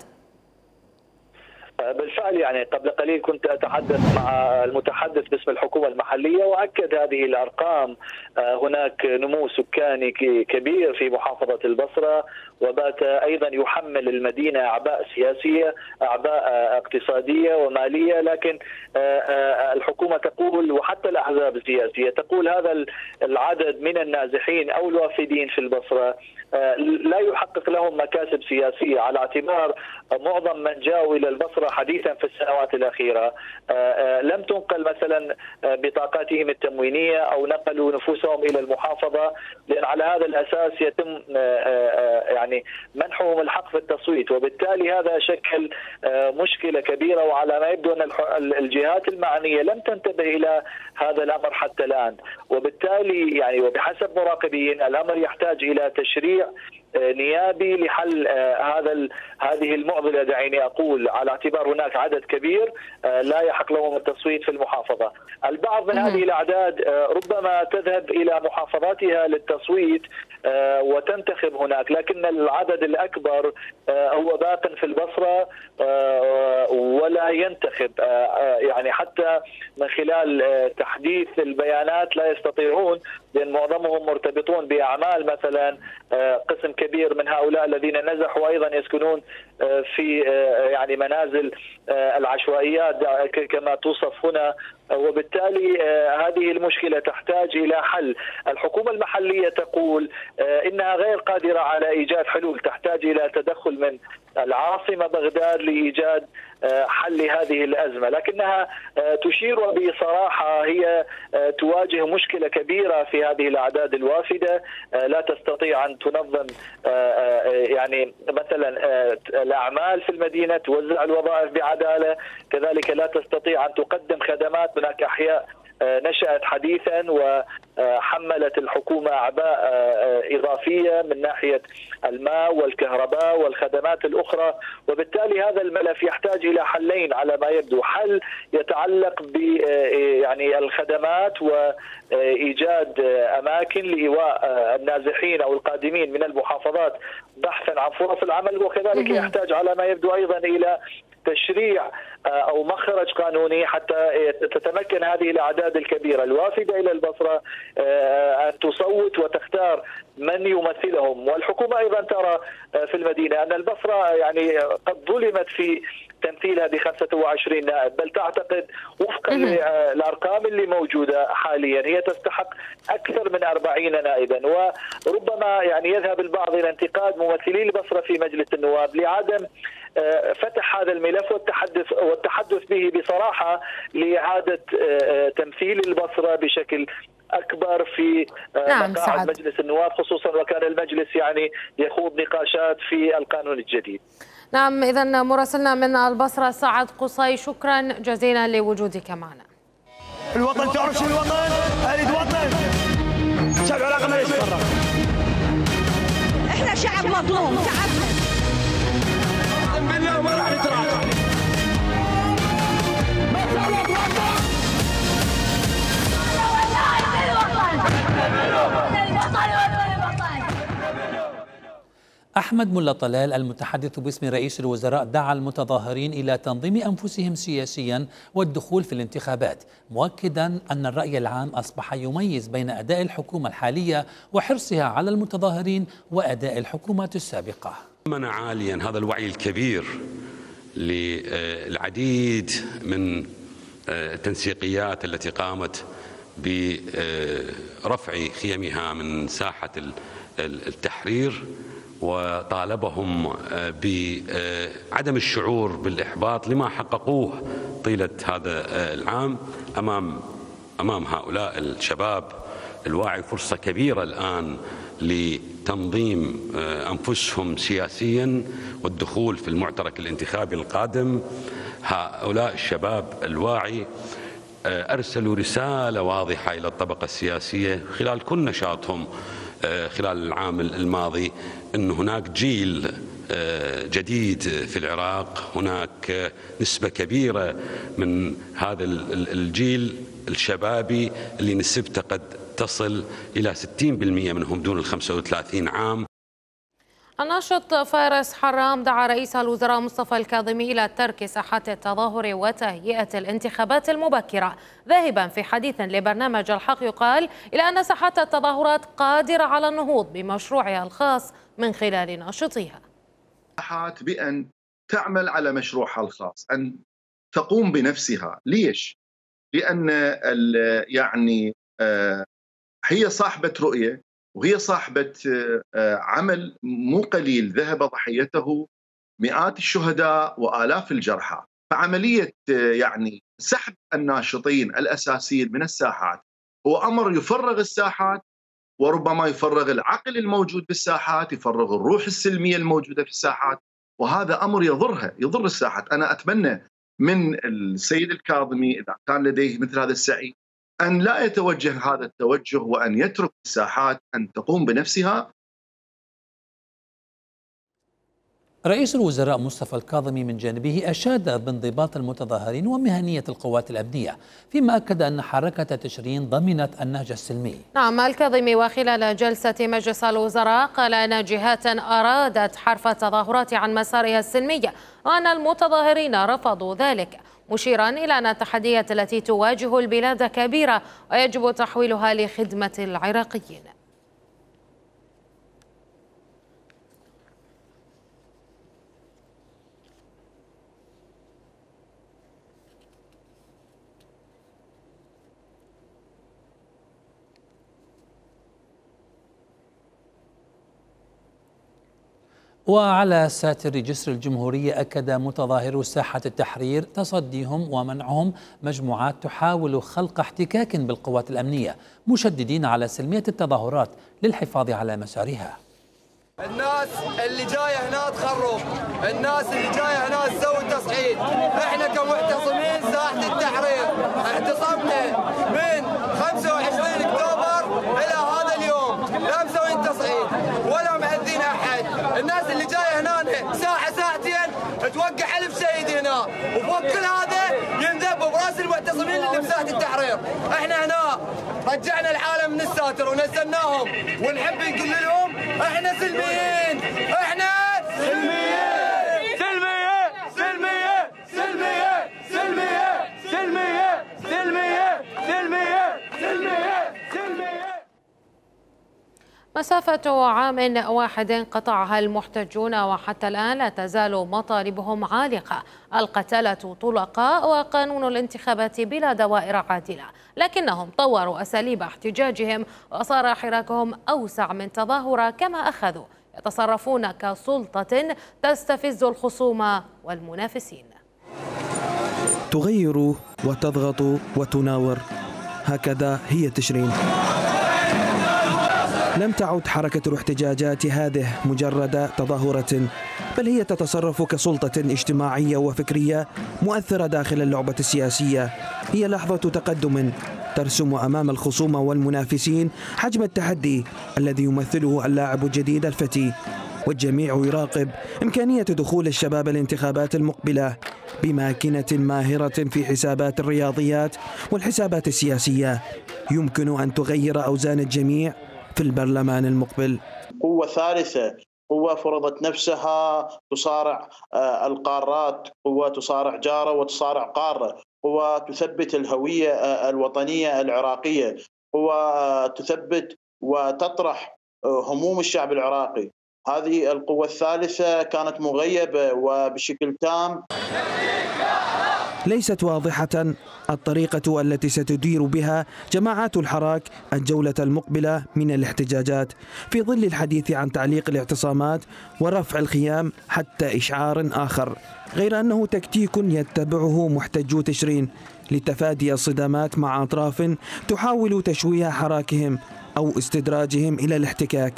بالفعل يعني قبل قليل كنت أتحدث مع المتحدث باسم الحكومة المحلية وأكد هذه الأرقام. هناك نمو سكاني كبير في محافظة البصرة، وبات أيضا يحمل المدينة أعباء سياسية، أعباء اقتصادية ومالية، لكن الحكومة تقول وحتى الأحزاب السياسية تقول هذا العدد من النازحين أو الوافدين في البصرة لا يحقق لهم مكاسب سياسية، على اعتبار معظم من جاءوا إلى البصرة حديثا في السنوات الأخيرة لم تنقل مثلا بطاقاتهم التموينية أو نقلوا نفوسهم إلى المحافظة، لأن على هذا الأساس يتم يعني منحهم الحق في التصويت، وبالتالي هذا شكل مشكلة كبيرة. وعلى ما يبدو أن الجهات المعنية لم تنتبه إلى هذا الأمر حتى الآن، وبالتالي يعني وبحسب مراقبين الأمر يحتاج إلى تشريع نيابي لحل هذه المعضلة. دعيني أقول على اعتبار هناك عدد كبير لا يحق لهم التصويت في المحافظة. البعض من هذه الأعداد ربما تذهب إلى محافظاتها للتصويت وتنتخب هناك، لكن العدد الأكبر هو باق في البصرة ولا ينتخب، يعني حتى من خلال تحديث البيانات لا يستطيعون، لأن معظمهم مرتبطون بأعمال. مثلا قسم كبير من هؤلاء الذين نزحوا أيضا يسكنون في يعني منازل العشوائيات كما توصف هنا، وبالتالي هذه المشكلة تحتاج إلى حل. الحكومة المحلية تقول إنها غير قادرة على إيجاد حلول، تحتاج إلى تدخل من العاصمة بغداد لإيجاد حل هذه الأزمة، لكنها تشير بصراحة هي تواجه مشكلة كبيرة في هذه الأعداد الوافدة، لا تستطيع أن تنظم يعني مثلا الأعمال في المدينة، توزع الوظائف بعدالة، كذلك لا تستطيع أن تقدم خدمات. هناك أحياء نشأت حديثا وحملت الحكومة أعباء إضافية من ناحية الماء والكهرباء والخدمات الأخرى، وبالتالي هذا الملف يحتاج إلى حلين على ما يبدو. حل يتعلق ب يعني الخدمات وإيجاد أماكن لإيواء النازحين أو القادمين من المحافظات بحثا عن فرص العمل، وكذلك يحتاج على ما يبدو أيضا إلى تشريع أو مخرج قانوني حتى تتمكن هذه الأعداد الكبيرة الوافدة إلى البصرة أن تصوت وتختار من يمثلهم. والحكومة أيضا ترى في المدينة أن البصرة يعني قد ظلمت في تمثيلها ب 25 نائب، بل تعتقد وفقا للأرقام اللي موجودة حاليا هي تستحق أكثر من 40 نائبا. وربما يعني يذهب البعض إلى انتقاد ممثلي البصرة في مجلس النواب لعدم فتح هذا الملف والتحدث به بصراحة لإعادة تمثيل البصرة بشكل اكبر في نعم مقاعد سعد. مجلس النواب، خصوصا وكان المجلس يعني يخوض نقاشات في القانون الجديد. نعم، إذا مراسلنا من البصرة سعد قصي، شكرا جزيلا لوجودك معنا. الوطن، تعرف شو الوطن؟ اريد وطن. شعب العراق ما يتفرق. احنا شعب مظلوم، شعبنا. بالله ما راح نتراجع. أحمد ملا طلال المتحدث باسم رئيس الوزراء دعا المتظاهرين إلى تنظيم أنفسهم سياسيا والدخول في الانتخابات، مؤكدا أن الرأي العام أصبح يميز بين أداء الحكومة الحالية وحرصها على المتظاهرين وأداء الحكومات السابقة. منع عاليا هذا الوعي الكبير للعديد من التنسيقيات التي قامت برفع خيمها من ساحة التحرير، وطالبهم بعدم الشعور بالإحباط لما حققوه طيلة هذا العام. أمام هؤلاء الشباب الواعي فرصة كبيرة الآن لتنظيم أنفسهم سياسيا والدخول في المعترك الانتخابي القادم. هؤلاء الشباب الواعي أرسلوا رسالة واضحة إلى الطبقة السياسية خلال كل نشاطهم خلال العام الماضي أن هناك جيل جديد في العراق، هناك نسبة كبيرة من هذا الجيل الشبابي اللي نسبته قد تصل إلى 60% منهم دون 35 عام. الناشط فارس حرام دعا رئيس الوزراء مصطفى الكاظمي إلى ترك ساحات التظاهر وتهيئة الانتخابات المبكرة، ذاهبا في حديث لبرنامج الحق يقال إلى أن ساحات التظاهرات قادرة على النهوض بمشروعها الخاص من خلال ناشطيها. بأن تعمل على مشروعها الخاص، أن تقوم بنفسها. ليش؟ لأن يعني هي صاحبة رؤية، وهي صاحبة عمل مو قليل ذهب ضحيته مئات الشهداء وآلاف الجرحى. فعملية يعني سحب الناشطين الأساسيين من الساحات هو أمر يفرغ الساحات، وربما يفرغ العقل الموجود بالساحات، يفرغ الروح السلمية الموجودة في الساحات، وهذا أمر يضر الساحات. أنا أتمنى من السيد الكاظمي إذا كان لديه مثل هذا السعي أن لا يتوجه هذا التوجه، وأن يترك الساحات أن تقوم بنفسها. رئيس الوزراء مصطفى الكاظمي من جانبه أشاد بانضباط المتظاهرين ومهنية القوات الأمنية، فيما أكد أن حركة تشرين ضمنت النهج السلمي. نعم، الكاظمي وخلال جلسة مجلس الوزراء قال أن جهات أرادت حرف التظاهرات عن مسارها السلمي وأن المتظاهرين رفضوا ذلك، مشيرا إلى أن التحديات التي تواجه البلاد كبيرة ويجب تحويلها لخدمة العراقيين. وعلى ساتر جسر الجمهورية أكد متظاهرو ساحة التحرير تصديهم ومنعهم مجموعات تحاول خلق احتكاك بالقوات الأمنية، مشددين على سلمية التظاهرات للحفاظ على مسارها. الناس اللي جايه هنا تخرب، الناس اللي جايه هنا تسوي تصعيد. احنا كمعتصمين ساحة التحرير اعتصمنا من 25 اكتوبر الى هذا اليوم، لا مسوين تصعيد ولا مأذين احد. الناس اللي جايه هنا ساعة ساعتين توقع ألف شهيد هنا، وفوق كل هذا ينذب براس المعتصمين اللي بساحة التحرير. احنا هنا رجعنا العالم من الساتر ونزلناهم، ونحب نقول لهم احنا سلميين، احنا سلميين سلميين سلميين سلميين سلميين سلميين سلميين سلميين سلميين سلميين. مسافة عام واحد قطعها المحتجون وحتى الآن لا تزال مطالبهم عالقة: القتلة طلقاء وقانون الانتخابات بلا دوائر عادلة. لكنهم طوروا أساليب احتجاجهم وصار حراكهم أوسع من تظاهرة، كما أخذوا يتصرفون كسلطة تستفز الخصوم والمنافسين. تغير وتضغط وتناور، هكذا هي تشرين. لم تعد حركة الاحتجاجات هذه مجرد تظاهرة، بل هي تتصرف كسلطة اجتماعية وفكرية مؤثرة داخل اللعبة السياسية. هي لحظة تقدم ترسم أمام الخصوم والمنافسين حجم التحدي الذي يمثله اللاعب الجديد الفتي، والجميع يراقب إمكانية دخول الشباب الانتخابات المقبلة بماكنة ماهرة في حسابات الرياضيات والحسابات السياسية يمكن أن تغير أوزان الجميع في البرلمان المقبل. قوة ثالثة، قوة فرضت نفسها تصارع القارات، قوة تصارع جارة وتصارع قارة، قوة تثبت الهوية الوطنية العراقية، قوة تثبت وتطرح هموم الشعب العراقي. هذه القوة الثالثة كانت مغيبة وبشكل تام. ليست واضحة الطريقة التي ستدير بها جماعات الحراك الجولة المقبلة من الاحتجاجات في ظل الحديث عن تعليق الاعتصامات ورفع الخيام حتى إشعار آخر، غير أنه تكتيك يتبعه محتجو تشرين لتفادي الصدامات مع أطراف تحاول تشويه حراكهم أو استدراجهم إلى الاحتكاك.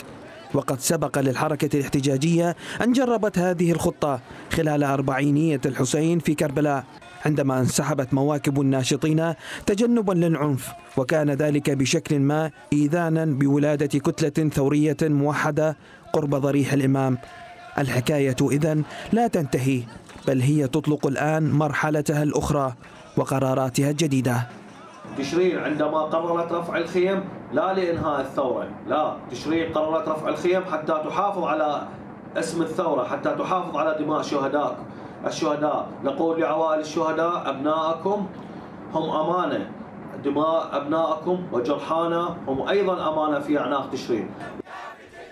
وقد سبق للحركة الاحتجاجية أن جربت هذه الخطة خلال أربعينية الحسين في كربلاء، عندما انسحبت مواكب الناشطين تجنبا للعنف، وكان ذلك بشكل ما إيذانا بولادة كتلة ثورية موحدة قرب ضريح الإمام. الحكاية إذن لا تنتهي، بل هي تطلق الآن مرحلتها الأخرى وقراراتها الجديدة. تشرين عندما قررت رفع الخيم لا لإنهاء الثورة، لا، تشرين قررت رفع الخيم حتى تحافظ على اسم الثورة، حتى تحافظ على دماء الشهداء. نقول لعوائل الشهداء أبنائكم هم أمانة، دماء أبنائكم وجرحانا هم أيضا أمانة في أعناق تشرين.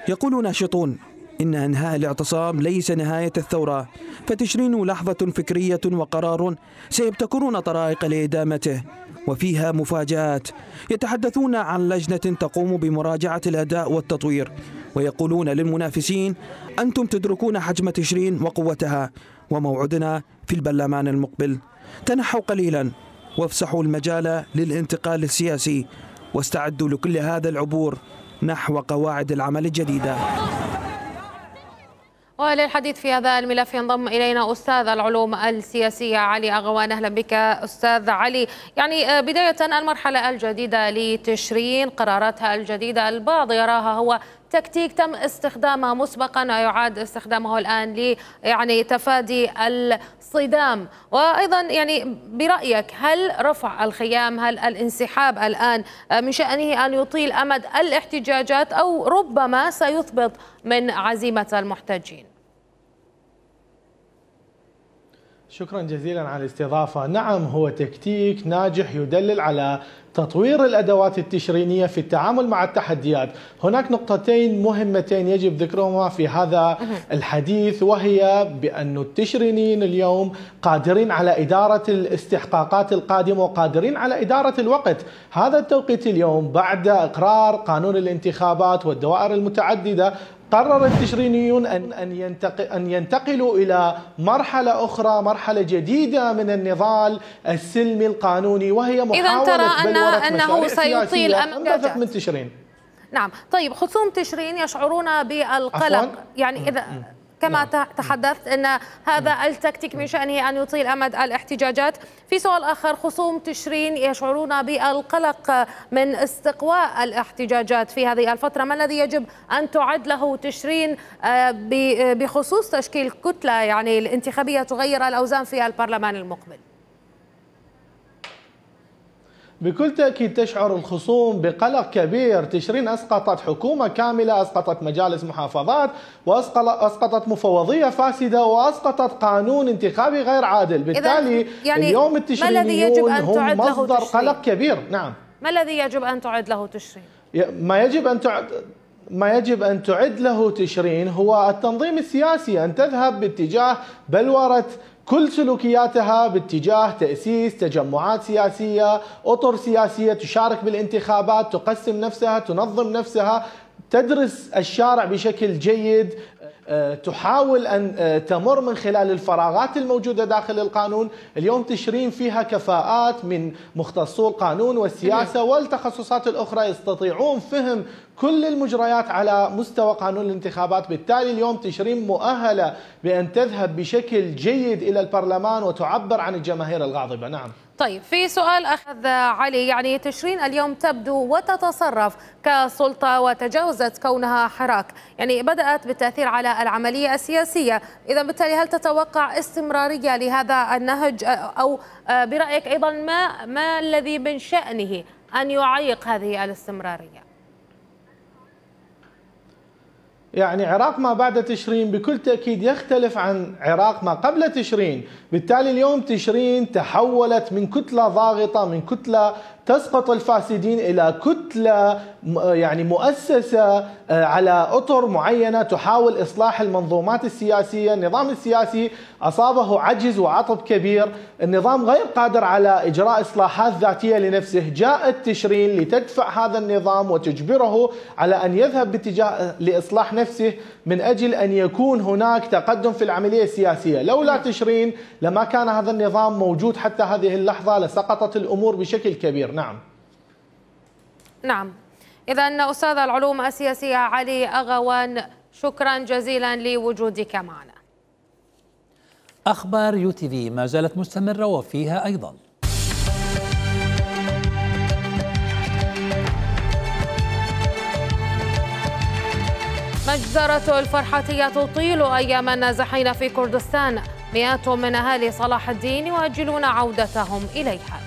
يقول ناشطون إن إنهاء الاعتصام ليس نهاية الثورة، فتشرين لحظة فكرية وقرار سيبتكرون طرائق لإدامته، وفيها مفاجآت. يتحدثون عن لجنة تقوم بمراجعة الأداء والتطوير، ويقولون للمنافسين أنتم تدركون حجم تشرين وقوتها، وموعدنا في البرلمان المقبل. تنحوا قليلا وافسحوا المجال للانتقال السياسي، واستعدوا لكل هذا العبور نحو قواعد العمل الجديدة. وللحديث في هذا الملف ينضم إلينا أستاذ العلوم السياسية علي أغوان. أهلا بك أستاذ علي. يعني بداية المرحلة الجديدة لتشرين، قراراتها الجديدة البعض يراها هو تكتيك تم استخدامه مسبقا ويعاد استخدامه الآن يعني تفادي الصدام. وأيضا يعني برأيك هل رفع الخيام، هل الانسحاب الآن من شأنه أن يطيل أمد الاحتجاجات أو ربما سيثبط من عزيمة المحتجين؟ شكرا جزيلا على الاستضافة. نعم، هو تكتيك ناجح يدلل على تطوير الأدوات التشرينية في التعامل مع التحديات. هناك نقطتين مهمتين يجب ذكرهما في هذا الحديث، وهي بأن التشرينيين اليوم قادرين على إدارة الاستحقاقات القادمة وقادرين على إدارة الوقت. هذا التوقيت اليوم بعد إقرار قانون الانتخابات والدوائر المتعددة قرر التشرينيون أن ينتقلوا إلى مرحلة أخرى، مرحلة جديدة من النضال السلمي القانوني، وهي محاولة أنه سيطيل أمد من تشرين. نعم، طيب خصوم تشرين يشعرون بالقلق، يعني إذا كما تحدثت أن هذا التكتيك من شأنه أن يطيل أمد الاحتجاجات. في سؤال آخر، خصوم تشرين يشعرون بالقلق من استقواء الاحتجاجات في هذه الفترة، ما الذي يجب أن تعد له تشرين بخصوص تشكيل كتلة يعني الانتخابية تغير الأوزان في البرلمان المقبل؟ بكل تأكيد تشعر الخصوم بقلق كبير. تشرين أسقطت حكومة كاملة، أسقطت مجالس محافظات، وأسقطت مفوضية فاسدة، وأسقطت قانون انتخابي غير عادل. بالتالي يعني اليوم التشرينيون هم مصدر قلق كبير. نعم، ما الذي يجب أن تعد له تشرين؟ ما يجب أن تعد له تشرين هو التنظيم السياسي، أن تذهب باتجاه بلورة كل سلوكياتها باتجاه تأسيس تجمعات سياسية، أطر سياسية تشارك بالانتخابات، تقسم نفسها، تنظم نفسها، تدرس الشارع بشكل جيد، تحاول أن تمر من خلال الفراغات الموجودة داخل القانون. اليوم تشرين فيها كفاءات من مختصو القانون والسياسة والتخصصات الأخرى يستطيعون فهم كل المجريات على مستوى قانون الانتخابات. بالتالي اليوم تشرين مؤهلة بأن تذهب بشكل جيد إلى البرلمان وتعبر عن الجماهير الغاضبة. نعم. طيب، في سؤال أخذ علي، يعني تشرين اليوم تبدو وتتصرف كسلطة وتجاوزت كونها حراك، يعني بدأت بالتأثير على العملية السياسية. إذا بالتالي هل تتوقع استمرارية لهذا النهج، أو برأيك أيضا ما الذي من شأنه أن يعيق هذه الاستمرارية؟ يعني عراق ما بعد تشرين بكل تأكيد يختلف عن عراق ما قبل تشرين. بالتالي اليوم تشرين تحولت من كتلة ضاغطة، من كتلة تسقط الفاسدين، إلى كتلة يعني مؤسسة على أطر معينة تحاول إصلاح المنظومات السياسية. النظام السياسي أصابه عجز وعطب كبير، النظام غير قادر على إجراء إصلاحات ذاتية لنفسه. جاءت تشرين لتدفع هذا النظام وتجبره على أن يذهب باتجاه لإصلاح نفسه من أجل أن يكون هناك تقدم في العملية السياسية. لولا تشرين لما كان هذا النظام موجود حتى هذه اللحظة، لسقطت الأمور بشكل كبير. نعم. إذا أستاذ العلوم السياسية علي أغوان، شكرا جزيلا لوجودك معنا. أخبار UTV ما زالت مستمرة وفيها أيضا مجزرة الفرحاتية تطيل أيام النازحين في كردستان، مئات من أهالي صلاح الدين يؤجلون عودتهم إليها.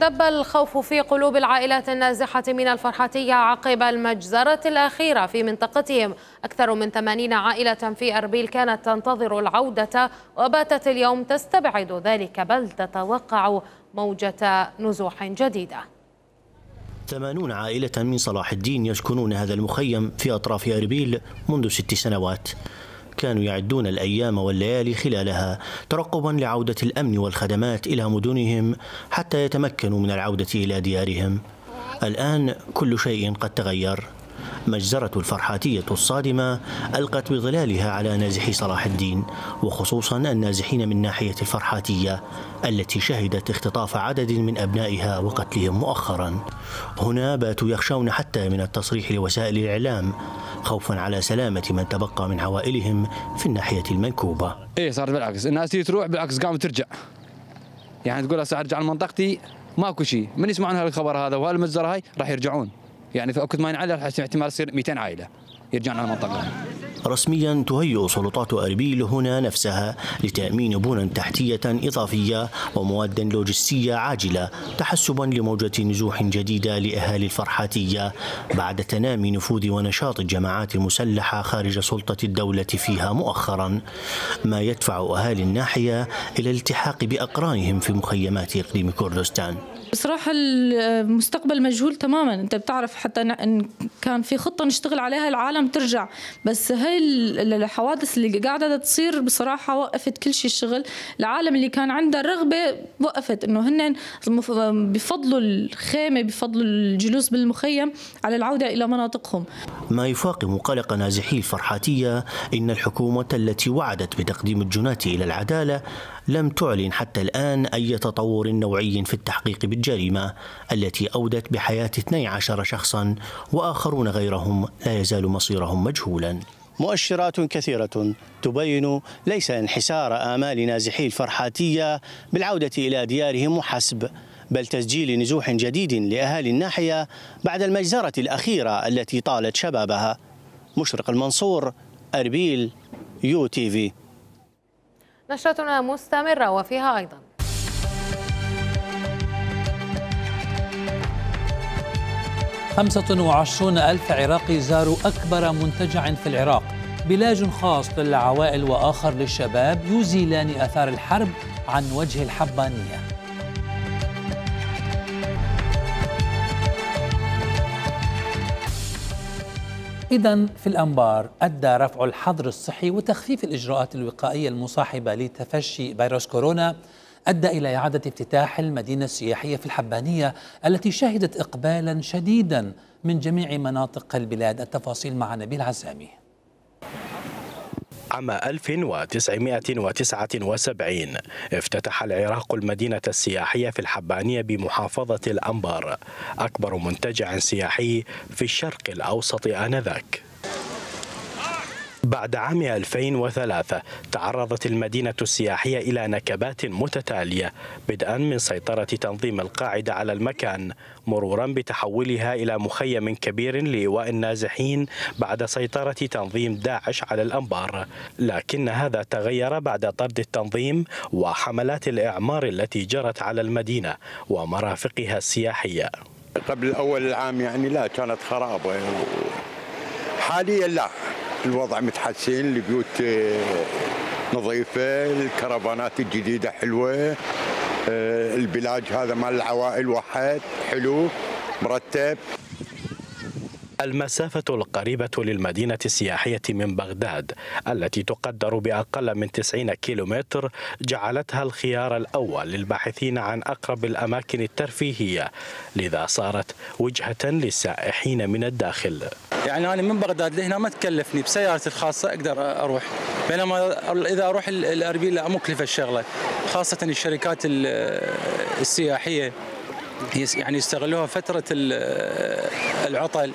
دب الخوف في قلوب العائلات النازحة من الفرحاتية عقب المجزرة الأخيرة في منطقتهم. أكثر من 80 عائلة في أربيل كانت تنتظر العودة وباتت اليوم تستبعد ذلك، بل تتوقع موجة نزوح جديدة. 80 عائلة من صلاح الدين يسكنون هذا المخيم في أطراف أربيل منذ 6 سنوات. كانوا يعدون الأيام والليالي خلالها ترقبا لعودة الأمن والخدمات إلى مدنهم حتى يتمكنوا من العودة إلى ديارهم. الآن كل شيء قد تغير. مجزرة الفرحاتية الصادمة ألقت بظلالها على نازحي صلاح الدين، وخصوصا النازحين من ناحية الفرحاتية التي شهدت اختطاف عدد من أبنائها وقتلهم مؤخرا. هنا باتوا يخشون حتى من التصريح لوسائل الإعلام خوفا على سلامة من تبقى من عوائلهم في الناحية المنكوبة. إيه صار بالعكس، الناس تيجي تروح بالعكس قامت ترجع، يعني تقول هسه أرجع لمنطقتي ماكو شيء، من يسمعون هالخبر هذا وهالمجزرة هاي راح يرجعون. يعني في وقت ما ينعلى احتمال يصير 200 عائلة يرجعون على المنطقة. رسميا تهيئ سلطات أربيل هنا نفسها لتأمين بنى تحتية إضافية ومواد لوجستية عاجلة تحسبا لموجة نزوح جديدة لأهالي الفرحاتية بعد تنامي نفوذ ونشاط الجماعات المسلحة خارج سلطة الدولة فيها مؤخرا، ما يدفع أهالي الناحية إلى الالتحاق بأقرانهم في مخيمات إقليم كردستان. بصراحة المستقبل مجهول تماما. انت بتعرف حتى ان كان في خطة نشتغل عليها العالم ترجع، بس هاي الحوادث اللي قاعدة تصير بصراحة وقفت كل شيء. الشغل العالم اللي كان عنده رغبة وقفت، انه هن بفضلوا الخيمة بفضلوا الجلوس بالمخيم على العودة الى مناطقهم. ما يفاقم قلق نازحي الفرحاتية ان الحكومة التي وعدت بتقديم الجناة الى العدالة لم تعلن حتى الآن أي تطور نوعي في التحقيق بالجريمة التي أودت بحياة 12 شخصا وآخرون غيرهم لا يزال مصيرهم مجهولا. مؤشرات كثيرة تبين ليس انحسار آمال نازحي الفرحاتية بالعودة إلى ديارهم وحسب، بل تسجيل نزوح جديد لأهالي الناحية بعد المجزرة الأخيرة التي طالت شبابها. مشرق المنصور، أربيل، UTV. نشرتنا مستمرة وفيها أيضا 25,000 عراقي زاروا أكبر منتجع في العراق بلاج خاص للعوائل وآخر للشباب يزيلان آثار الحرب عن وجه الحبانية. إذن في الأنبار أدى رفع الحظر الصحي وتخفيف الإجراءات الوقائية المصاحبة لتفشي فيروس كورونا أدى إلى إعادة افتتاح المدينة السياحية في الحبانية التي شهدت إقبالا شديدا من جميع مناطق البلاد. التفاصيل مع نبيل عزامي. عام 1979 افتتح العراق المدينة السياحية في الحبانية بمحافظة الأنبار، أكبر منتجع سياحي في الشرق الأوسط آنذاك. بعد عام 2003 تعرضت المدينة السياحية إلى نكبات متتالية، بدءا من سيطرة تنظيم القاعدة على المكان، مرورا بتحولها إلى مخيم كبير لإيواء النازحين بعد سيطرة تنظيم داعش على الأنبار، لكن هذا تغير بعد طرد التنظيم وحملات الإعمار التي جرت على المدينة ومرافقها السياحية. قبل أول العام يعني لا كانت خرابة، حاليا لا، الوضع متحسن، البيوت نظيفة، الكرفانات الجديدة حلوة، البلاج هذا مال العوائل واحد حلو مرتب. المسافة القريبة للمدينة السياحية من بغداد التي تقدر بأقل من 90 كيلومتر جعلتها الخيار الأول للباحثين عن أقرب الأماكن الترفيهية، لذا صارت وجهة للسائحين من الداخل. يعني أنا من بغداد لهنا ما تكلفني، بسيارتي الخاصة أقدر أروح، بينما إذا أروح الأربيل لا مكلفة الشغلة، خاصة الشركات السياحية يعني يستغلوها فترة العطل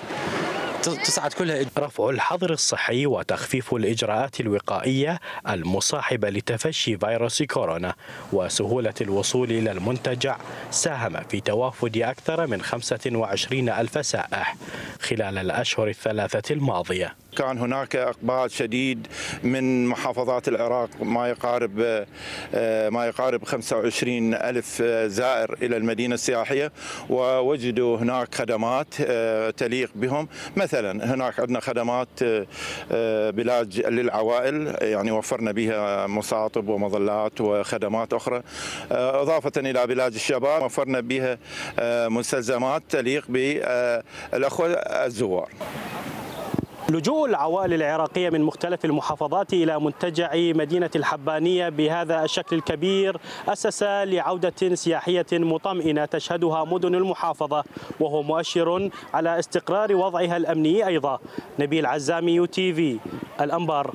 تصعد كلها. رفع الحظر الصحي وتخفيف الإجراءات الوقائية المصاحبة لتفشي فيروس كورونا وسهولة الوصول إلى المنتجع ساهم في توافد أكثر من 25,000 سائح خلال الأشهر الثلاثة الماضية. كان هناك إقبال شديد من محافظات العراق، ما يقارب 25,000 زائر إلى المدينة السياحية، ووجدوا هناك خدمات تليق بهم. مثلا هناك عندنا خدمات بلاج للعوائل، يعني وفرنا بها مصاطب ومظلات وخدمات أخرى، إضافة إلى بلاج الشباب وفرنا بها مستلزمات تليق بالأخوة الزوار. لجوء العوائل العراقية من مختلف المحافظات إلى منتجع مدينة الحبانية بهذا الشكل الكبير أسس لعودة سياحية مطمئنة تشهدها مدن المحافظة، وهو مؤشر على استقرار وضعها الأمني أيضا. نبيل عزامي UTV الأنبار.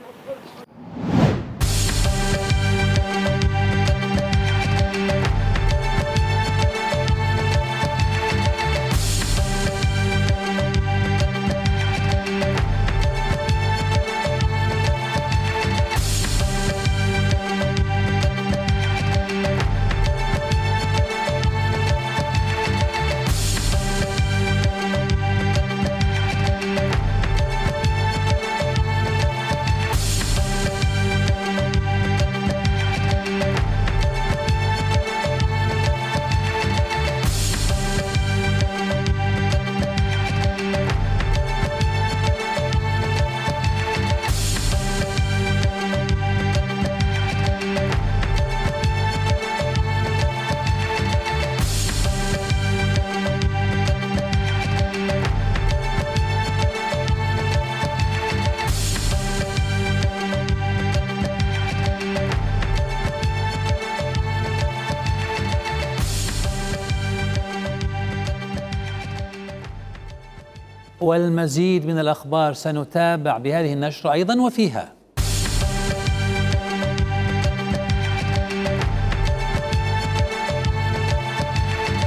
والمزيد من الأخبار سنتابع بهذه النشرة أيضا وفيها.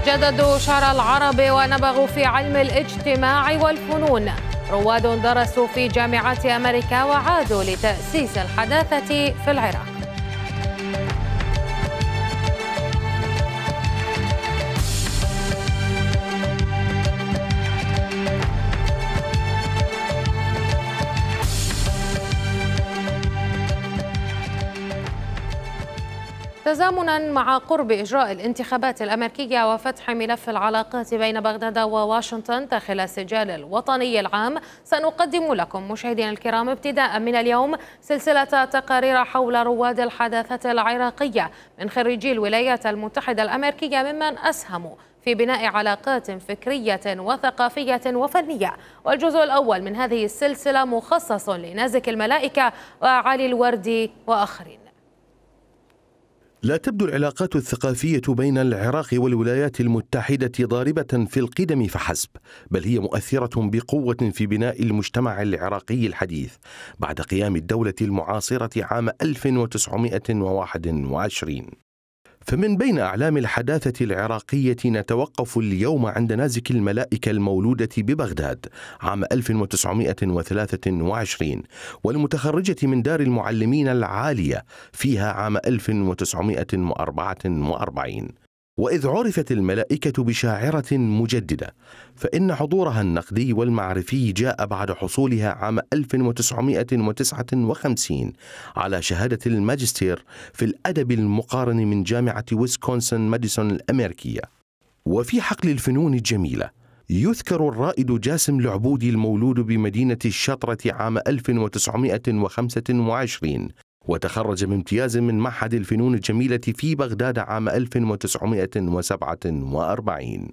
جددوا شعر العرب ونبغوا في علم الاجتماع والفنون. رواد درسوا في جامعات أمريكا وعادوا لتأسيس الحداثة في العراق. تزامنا مع قرب إجراء الانتخابات الأمريكية وفتح ملف العلاقات بين بغداد وواشنطن داخل السجال الوطني العام، سنقدم لكم مشاهدينا الكرام ابتداء من اليوم سلسلة تقارير حول رواد الحداثة العراقية من خريجي الولايات المتحدة الأمريكية ممن أسهموا في بناء علاقات فكرية وثقافية وفنية. والجزء الأول من هذه السلسلة مخصص لنازك الملائكة وعلي الوردي وآخرين. لا تبدو العلاقات الثقافية بين العراق والولايات المتحدة ضاربة في القدم فحسب، بل هي مؤثرة بقوة في بناء المجتمع العراقي الحديث بعد قيام الدولة المعاصرة عام 1921. فمن بين أعلام الحداثة العراقية نتوقف اليوم عند نازك الملائكة المولودة ببغداد عام 1923 والمتخرجة من دار المعلمين العالية فيها عام 1944. وإذ عرفت الملائكة بشاعرة مجددة فإن حضورها النقدي والمعرفي جاء بعد حصولها عام 1959 على شهادة الماجستير في الأدب المقارن من جامعة ويسكونسن ماديسون الأمريكية. وفي حقل الفنون الجميلة يذكر الرائد جاسم العبودي المولود بمدينة الشطرة عام 1925 وتخرج بامتياز من معهد الفنون الجميلة في بغداد عام 1947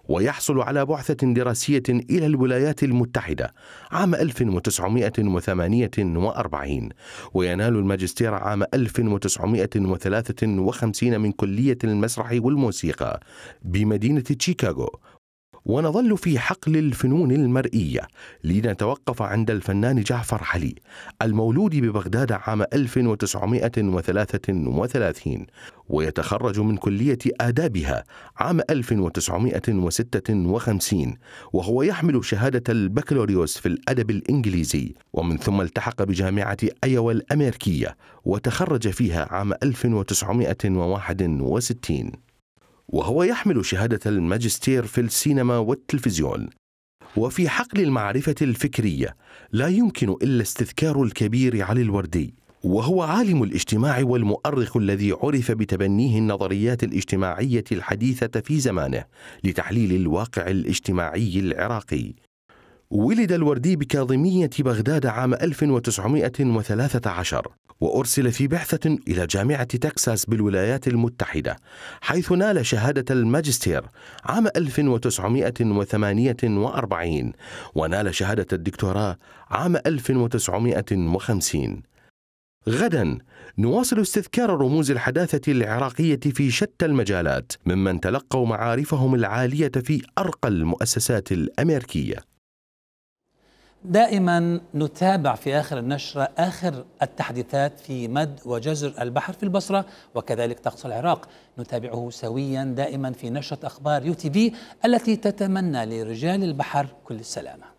ويحصل على بعثة دراسية إلى الولايات المتحدة عام 1948 وينال الماجستير عام 1953 من كلية المسرح والموسيقى بمدينة شيكاغو. ونظل في حقل الفنون المرئية لنتوقف عند الفنان جعفر علي المولود ببغداد عام 1933 ويتخرج من كلية آدابها عام 1956 وهو يحمل شهادة البكالوريوس في الأدب الإنجليزي، ومن ثم التحق بجامعة أيوا الأمريكية وتخرج فيها عام 1961 وهو يحمل شهادة الماجستير في السينما والتلفزيون. وفي حقل المعرفة الفكرية لا يمكن إلا استذكار الكبير علي الوردي، وهو عالم الاجتماع والمؤرخ الذي عرف بتبنيه النظريات الاجتماعية الحديثة في زمانه لتحليل الواقع الاجتماعي العراقي. ولد الوردي بكاظمية بغداد عام 1913 وأرسل في بعثة إلى جامعة تكساس بالولايات المتحدة حيث نال شهادة الماجستير عام 1948 ونال شهادة الدكتوراه عام 1950. غدا نواصل استذكار رموز الحداثة العراقية في شتى المجالات ممن تلقوا معارفهم العالية في أرقى المؤسسات الأمريكية. دائما نتابع في آخر النشرة آخر التحديثات في مد وجزر البحر في البصرة وكذلك طقس العراق، نتابعه سويا دائما في نشرة أخبار UTV التي تتمنى لرجال البحر كل السلامة.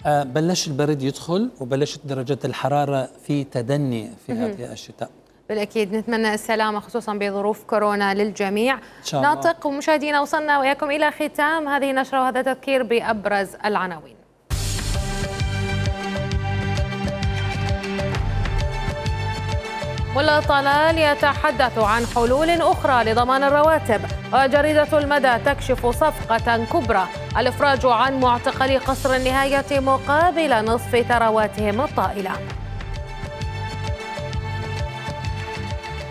بلش البرد يدخل وبلشت درجة الحرارة في تدني في هذه الشتاء. بالأكيد نتمنى السلامة خصوصا بظروف كورونا للجميع. إن شاء الله. ناطق ومشاهدينا وصلنا وياكم إلى ختام هذه النشرة وهذا تذكير بأبرز العناوين. ملا طلال يتحدث عن حلول أخرى لضمان الرواتب، وجريدة المدى تكشف صفقة كبرى الإفراج عن معتقلي قصر النهاية مقابل نصف ثرواتهم الطائلة.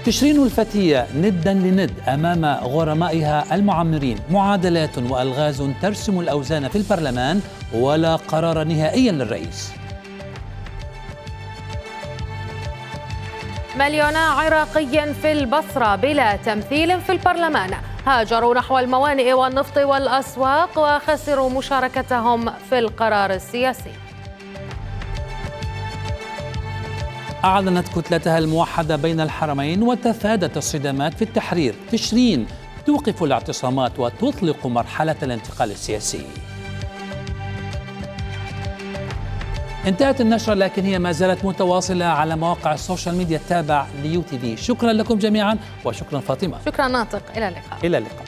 تشرين الفتية ندا لند أمام غرمائها المعمرين، معادلات وألغاز ترسم الأوزان في البرلمان ولا قرار نهائيا للرئيس. مليونا عراقي في البصرة بلا تمثيل في البرلمان، هاجروا نحو الموانئ والنفط والأسواق وخسروا مشاركتهم في القرار السياسي. أعلنت كتلتها الموحدة بين الحرمين وتفادت الصدامات في التحرير. تشرين توقف الاعتصامات وتطلق مرحلة الانتقال السياسي. انتهت النشرة لكن هي ما زالت متواصلة على مواقع السوشيال ميديا التابع ليو تي في. شكرا لكم جميعا وشكرا فاطمة. شكرا ناطق، إلى اللقاء. إلى اللقاء.